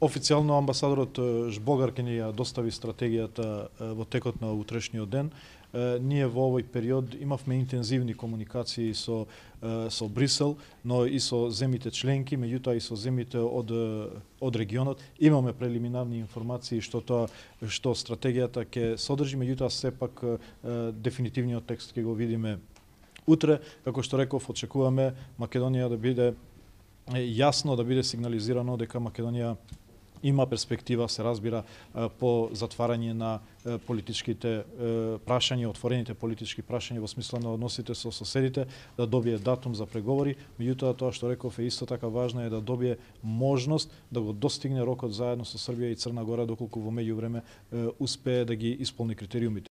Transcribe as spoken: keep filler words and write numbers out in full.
Официјално амбасадорот Жбогар ќе ни ја достави стратегијата во текот на утрешниот ден. Ние во овој период имавме интензивни комуникации со со Брисел, но и со земјите членки, меѓутоа и со земјите од од регионот. Имаме прелиминарни информации што тоа што стратегијата ќе содржи, меѓутоа сепак дефинитивниот текст ќе го видиме утре. Како што реков, очекуваме Македонија да биде јасно, да биде сигнализирано дека Македонија има перспектива, се разбира, по затварање на политичките прашања, отворените политички прашања во смисла на односите со соседите, да добие датум за преговори. Меѓутоа, тоа што реков е исто така важно е да добие можност да го достигне рокот заедно со Србија и Црна Гора, доколку во меѓувреме успее да ги исполни критериумите.